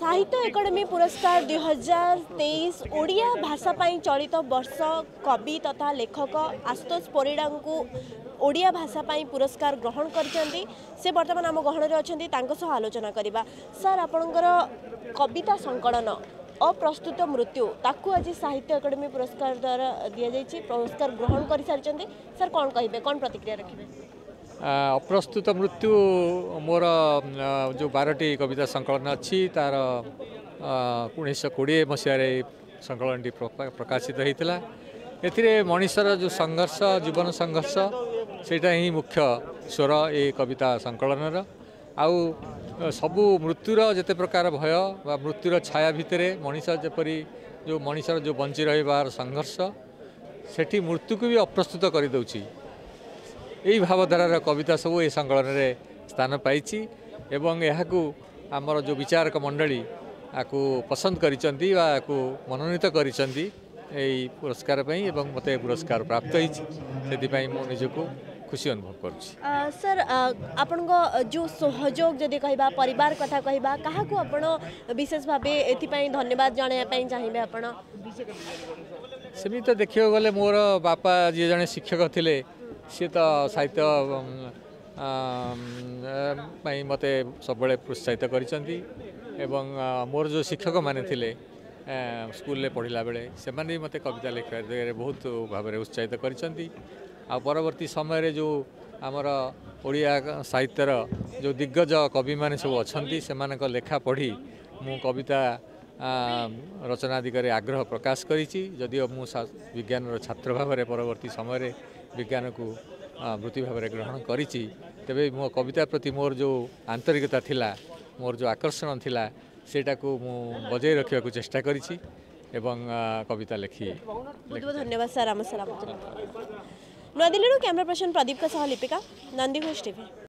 ସାହିତ୍ୟ ଏକାଡେମୀ ପୁରସ୍କାର 2023 ଓଡ଼ିଆ ଭାଷା ପାଇଁ ଚଳିତ ବର୍ଷ କବି ତଥା ଲେଖକ ଆଶୁତୋଷ ପରିଡ଼ାଙ୍କୁ ଓଡ଼ିଆ ଭାଷା ପାଇଁ ପୁରସ୍କାର ଗ୍ରହଣ କରିଛନ୍ତି। ସେ ବର୍ତ୍ତମାନ ଆମ ଗହଣରେ ଅଛନ୍ତି, ତାଙ୍କ ସହ ଆଲୋଚନା କରିବା। ସାର୍, ଆପଣଙ୍କର କବିତା ସଂକଳନ ଅପ୍ରସ୍ତୁତ ମୃତ୍ୟୁ, ତାକୁ ଆଜି ସାହିତ୍ୟ ଏକାଡେମୀ ପୁରସ୍କାର ଦ୍ୱାରା ଦିଆଯାଇଛି, ପୁରସ୍କାର ଗ୍ରହଣ କରିସାରିଛନ୍ତି। ସାର୍, କ'ଣ କହିବେ, କ'ଣ ପ୍ରତିକ୍ରିୟା ରଖିବେ? ଅପ୍ରସ୍ତୁତ ମୃତ୍ୟୁ ମୋର ଯେଉଁ 12ଟି କବିତା ସଂକଳନ ଅଛି, ତାର 1920 ମସିହାରେ ସଂକଳନଟି ପ୍ରକାଶିତ ହୋଇଥିଲା। ଏଥିରେ ମଣିଷର ଯେଉଁ ସଂଘର୍ଷ, ଜୀବନ ସଂଘର୍ଷ, ସେଇଟା ହିଁ ମୁଖ୍ୟ ସ୍ୱର ଏ କବିତା ସଂକଳନର। ଆଉ ସବୁ ମୃତ୍ୟୁର ଯେତେ ପ୍ରକାର ଭୟ ବା ମୃତ୍ୟୁର ଛାୟା ଭିତରେ ମଣିଷ ଯେପରି ଯେଉଁ ମଣିଷର ଯେଉଁ ବଞ୍ଚି ରହିବାର ସଂଘର୍ଷ, ସେଠି ମୃତ୍ୟୁକୁ ବି ଅପ୍ରସ୍ତୁତ କରିଦେଉଛି, ଏହି ଭାବଧାରାର କବିତା ସବୁ ଏ ସଂକଳନରେ ସ୍ଥାନ ପାଇଛି। ଏବଂ ଏହାକୁ ଆମର ଯେଉଁ ବିଚାରକ ମଣ୍ଡଳୀ ଆକୁ ପସନ୍ଦ କରିଛନ୍ତି ବା ଆକୁ ମନୋନୀତ କରିଛନ୍ତି ଏଇ ପୁରସ୍କାର ପାଇଁ, ଏବଂ ମୋତେ ପୁରସ୍କାର ପ୍ରାପ୍ତ ହୋଇଛି, ସେଥିପାଇଁ ମୁଁ ନିଜକୁ ଖୁସି ଅନୁଭବ କରୁଛି। ସାର୍, ଆପଣଙ୍କ ଯେଉଁ ସହଯୋଗ ଯଦି କହିବା, ପରିବାର କଥା କହିବା, କାହାକୁ ଆପଣ ବିଶେଷ ଭାବେ ଏଥିପାଇଁ ଧନ୍ୟବାଦ ଜଣାଇବା ପାଇଁ ଚାହିଁବେ ଆପଣ? ସେମିତି ତ ଦେଖିବାକୁ ଗଲେ ମୋର ବାପା ଯିଏ ଜଣେ ଶିକ୍ଷକ ଥିଲେ, ସିଏ ତ ସାହିତ୍ୟ ପାଇଁ ମୋତେ ସବୁବେଳେ ପ୍ରୋତ୍ସାହିତ କରିଛନ୍ତି। ଏବଂ ମୋର ଯେଉଁ ଶିକ୍ଷକମାନେ ଥିଲେ ସ୍କୁଲରେ ପଢ଼ିଲା ବେଳେ, ସେମାନେ ବି ମୋତେ କବିତା ଲେଖିବା ଦିଗରେ ବହୁତ ଭାବରେ ଉତ୍ସାହିତ କରିଛନ୍ତି। ଆଉ ପରବର୍ତ୍ତୀ ସମୟରେ ଯେଉଁ ଆମର ଓଡ଼ିଆ ସାହିତ୍ୟର ଯେଉଁ ଦିଗ୍ଗଜ କବିମାନେ ସବୁ ଅଛନ୍ତି, ସେମାନଙ୍କ ଲେଖା ପଢ଼ି ମୁଁ କବିତା ରଚନା ଦିଗରେ ଆଗ୍ରହ ପ୍ରକାଶ କରିଛି। ଯଦିଓ ମୁଁ ବିଜ୍ଞାନର ଛାତ୍ର ଭାବରେ ପରବର୍ତ୍ତୀ ସମୟରେ ବିଜ୍ଞାନକୁ ବୃତ୍ତି ଭାବରେ ଗ୍ରହଣ କରିଛି, ତେବେ ମୋ କବିତା ପ୍ରତି ମୋର ଯେଉଁ ଆନ୍ତରିକତା ଥିଲା, ମୋର ଯେଉଁ ଆକର୍ଷଣ ଥିଲା, ସେଇଟାକୁ ମୁଁ ବଜାଇ ରଖିବାକୁ ଚେଷ୍ଟା କରିଛି ଏବଂ କବିତା ଲେଖି। ବହୁତ ବହୁତ ଧନ୍ୟବାଦ ସାର୍। ଆମ ସାର୍, ନୂଆଦିଲ୍ଲୀରୁ କ୍ୟାମେରା ପର୍ସନ ପ୍ରଦୀପଙ୍କ ସହ ଲିପିକା, ନନ୍ଦିଘୋଷ ଟିଭି।